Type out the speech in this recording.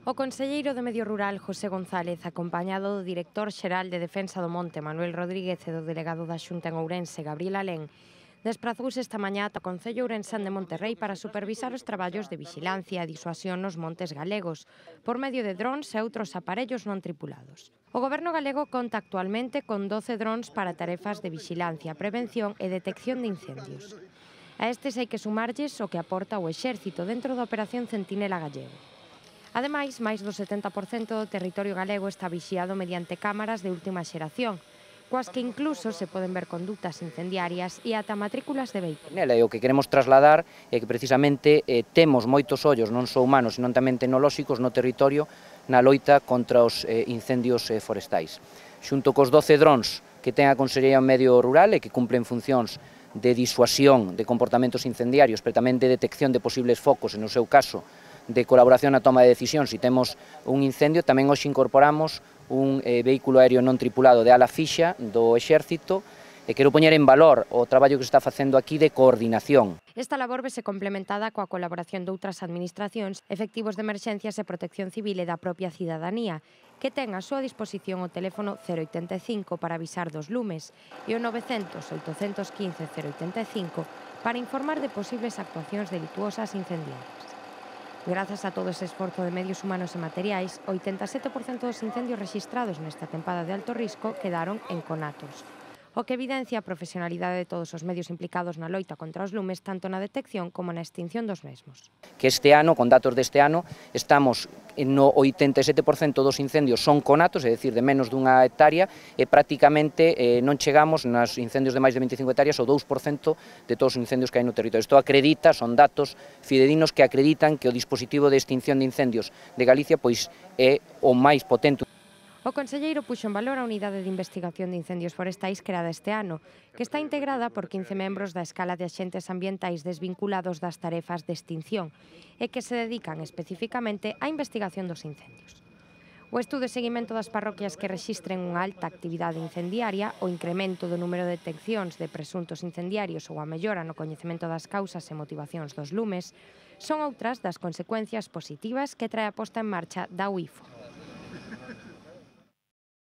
O conselleiro de Medio Rural, José González, acompañado do director xeral de Defensa do Monte, Manuel Rodríguez, e do delegado da Xunta en Ourense, Gabriel Alén, desprazouse esta mañá ata o Concello ourensán de Monterrei para supervisar os traballos de vixilancia e disuasión nos montes galegos, por medio de drons e outros aparellos non tripulados. O Goberno galego conta actualmente con 12 drons para tarefas de vixilancia, prevención e detección de incendios. A estes hai que sumarlles o que aporta o Exército dentro da Operación Centinela Gallego. Ademais, máis do 70% do territorio galego está vixiado mediante cámaras de última xeración, coas que incluso se poden ver condutas incendiarias e ata matrículas de vehículos. Nela, e o que queremos trasladar é que precisamente temos moitos ollos, non só humanos, senón tamén tecnolóxicos no territorio na loita contra os incendios forestais. Xunto cos 12 drons que ten a Consellería do Medio Rural e que cumplen funcións de disuasión de comportamentos incendiarios, pero tamén de detección de posibles focos, e no seu caso de colaboración na toma de decisión se temos un incendio, tamén hoxe incorporamos un vehículo aéreo non tripulado de ala fixa do Exército, e quero poñer en valor o traballo que se está facendo aquí de coordinación. Esta labor vese complementada coa colaboración de outras administracións, efectivos de emerxencias e protección civil e da propia cidadanía, que ten a súa disposición o teléfono 085 para avisar dos lumes e o 900 815 085 para informar de posibles actuacións delituosas incendiarias. Grazas a todo ese esforzo de medios humanos e materiais, 87% dos incendios rexistrados nesta tempada de alto risco quedaron en conatos, o que evidencia a profesionalidade de todos os medios implicados na loita contra os lumes, tanto na detección como na extinción dos mesmos. Que este ano, con datos deste ano, estamos no 87% dos incendios son conatos, é dicir, de menos dunha hectárea, e prácticamente non chegamos nos incendios de máis de 25 hectáreas ao 2% de todos os incendios que hai no territorio. Isto acredita, son datos fidedignos que acreditan que o dispositivo de extinción de incendios de Galicia pois é o máis potente. O conselleiro puxo en valor a Unidade de Investigación de Incendios Forestais creada este ano, que está integrada por 15 membros da escala de axentes ambientais desvinculados das tarefas de extinción e que se dedican especificamente á investigación dos incendios. O estudo de seguimento das parroquias que rexistren unha alta actividade incendiaria, o incremento do número de deteccións de presuntos incendiarios ou a mellora no coñecemento das causas e motivacións dos lumes son outras das consecuencias positivas que trae a posta en marcha da UIFO.